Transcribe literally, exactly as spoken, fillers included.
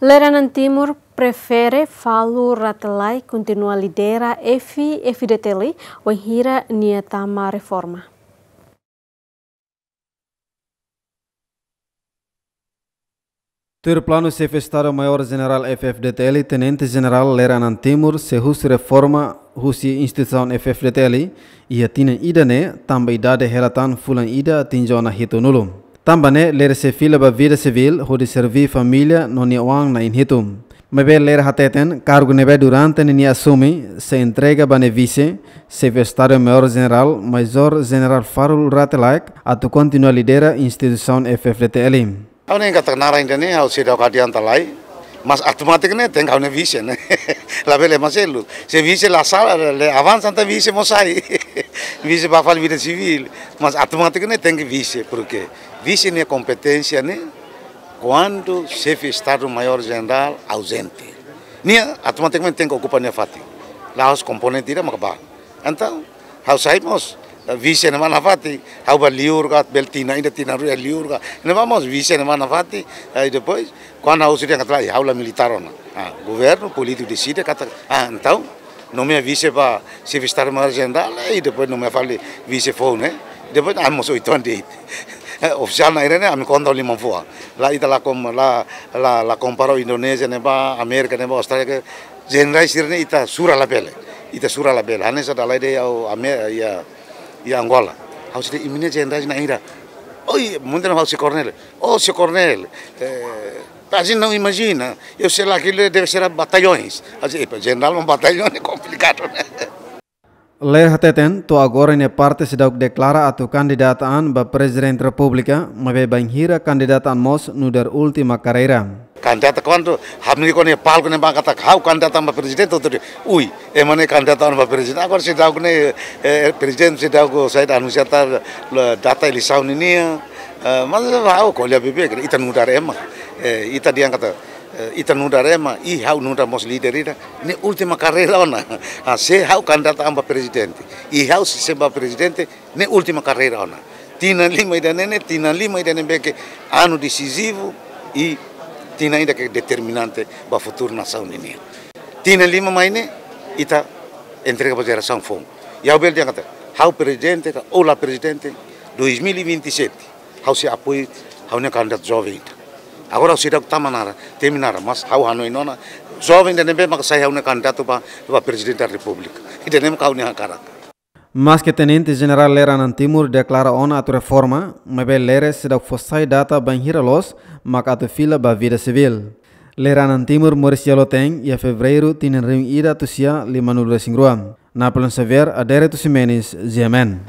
Lere-anan Timur prefere Falur Rate Laek kontinua lidera F-FDTL wainhira nia tama reforma. Tuir planu Xefe Estadu Maiór Jenerál F-FDTL, Tenente Jenerál Lere-anan Timur sei husu reforma husi instituisaun F-FDTL iha tinan ida-ne'e, tanba idade hela tan fulan ida atinje ona hitunulu. Tanba ne'e, Lere sei fila ba vida sivíl hodi serví família no nia oan na'in hitu. Maibé Lere hateten, kargu ne'ebé durante ne'e nia asume sei entrega ba nia vise, Xefe Estadu Maiór Jenerál, Majór Jenerál Falur Rate Laek, atu kontinua lidera instituisaun F-FDTL. Ha'u ne'e katak naran ida-ne'e, ha'u seidauk adianta lai, mas automátiku ne'e tenke ha'u ne'e vise ne'e. Labele ema seluk. Se vise la sala, la, la avansa, entaun vise mós sai. Vise ba fali vida sivíl. Mas automátiku ne'e tenke vise, porke vise nia kompeténsia ne'e kuandu Xefe Estadu Maiór Jenerál auzente. Nia automatikamente tenke okupa nia fatin. La'ós komponente ida maka bá. Entaun, ha'u sai mós, eh, vise ne'e ba nafatin, ha'u ba liur ka, bele tinan ida tinan rua liur ka. Ne'ebá mós vise ne'e ba nafatin, eh, depois, kuandu ha'u husu dehan katak lae, ha'u la militár ona. Ah, governu, polítiku deside katak, ah, entaun, nomeia vise ba Xefe Estadu Maiór Jenerál, eh, depois nomeia fali vise foun, eh. Depois, ah, mós oituan de'it. Eh, ofisiál na'in-rua ne'e, ami konta liman-fua. La ita la kom-, la, la, la kompara Indonézia ne'ebá, Amérika ne'ebá, Austrália ke, jenerál sira-ne'e ita sura labele. Ita sura labele. Hanesan dala ida ha'u Amé-, iha, iha Angola. Ha'u sira imi-nia jenerál na'in-rua. Oi, mungkin ha'u sei koronél. Oh, sei koronél. Eh, a gente não imagina. Eu sei lá que ele deve ser batalhões. A gente, epa, jenerál ho bataljón ne'e komplikadu, né? Lere hateten, to'o agora nia parte seidauk deklara atu kandidata an ba Prezidente Repúblika, maibé bainhira kandidata an mós nu'udar última karreira. Kandidata kuandu hamriik ona iha palku ne'e ba katak ha'u kandidata an ba prezidente, hotu dehan, ui, ema ne'e kandidata an ba prezidente. Agora seidauk ne'e, eh, prezidente seidauk sai anunsia ta, la, data eleisaun ninian, eh, mas ha'u ko'alia beibeik, ita nu'udar ema, eh, ita dehan katak, eh, ita nu'udar ema, i ha'u nu'udar mós líder ida, ne'e última karreira ona. Ah, se ha'u kandidata an ba prezidente, i ha'u sei, sei ba prezidente, ne'e última karreira ona. Tinan lima ida-ne'e, ne'e tinan lima ida ne'ebé ke anu desizivu i tinan ida ke determinante ba futuru nasaun ninian. Tinan lima mai ne'e, ita entrega ba jerasaun foun. I ha'u bele dehan katak, ha'u prezidente ka, ou la prezidente, dois mil e vinte e sete, ha'u sei apoiu ha'u-nia kandidatu joven ida. Agora ha'u seidauk tama naran, temi naran, mas ha'u hanoin ona, joven ida ne'ebé maka sai ha'u-nia kandidatu ba, ba Prezidente da Repúblika. Ida-ne'e maka ha'u-nia hakarak. Maske Tenente Jenerál Lere-anan Timur deklara ona atu reforma, maibé Lere seidauk fó sai data bainhira loos maka atu fila ba vida sivíl. Lere-anan Timur moris iha loten iha Fevereiru tinan rihun ida atus sia limanulu-resin-rua. Napoleon Xavier, Adérito Ximenes, G M N.